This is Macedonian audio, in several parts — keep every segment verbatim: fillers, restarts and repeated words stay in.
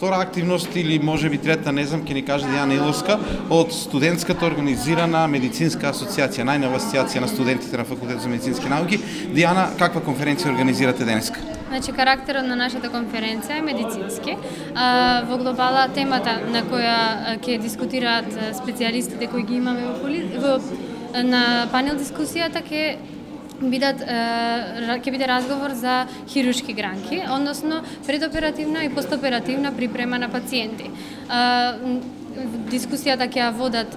Втора активност или можеби трета, не знам, ќе ни каже Дијана Иловска од студентската организирана медицинска асоциација, најнова асоциација на студентите на Факултетот за медицински науки. Дијана, каква конференција организирате денеска? Значи, карактерот на нашата конференција е медицински. А, во глобала темата на која ќе дискутираат специјалистите кои ги имаме во, поли... во на панел дискусијата ќе бидат ќе биде разговор за хируршки гранки, односно предоперативна и постоперативна припрема на пациенти. Дискусијата ќе ја водат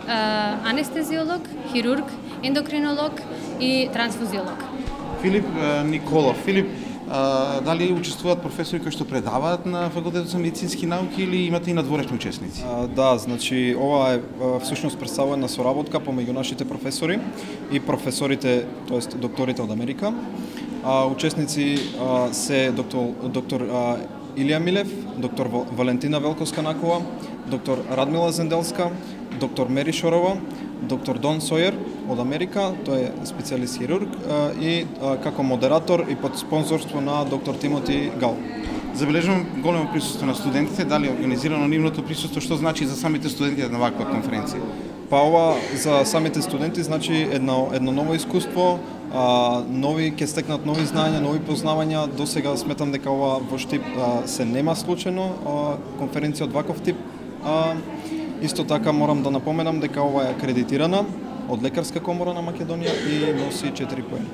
анестезиолог, хирург, ендокринолог и трансфузиолог. Филип Николов. Филип, дали учествуваат професори кои што предаваат на Факултетот за медицински науки или имате и надворешни учесници? А, да, значи ова е всушност представувана соработка помеѓу нашите професори и професорите, тоест докторите од Америка. А, учесници а, се доктор, доктор а, Илија Милев, доктор Валентина Велковска-Накова, доктор Радмила Зенделска, доктор Мери Шорова, доктор Дон Сојер од Америка, тој е специјалист хирург и како модератор и под спонзорство на доктор Тимоти Гал. Забележувам големо присуство на студентите, дали е организирано нивното присуство, што значи за самите студенти на ваква конференција? Па ова за самите студенти значи едно едно ново искуство, а, нови ќе стекнат нови знаења, нови познавања. До сега сметам дека ова во Штип а, се нема случајно а, конференција од ваков тип. А, Исто така морам да напоменам дека ова е акредитирана од Лекарска комора на Македонија и носи четири поени.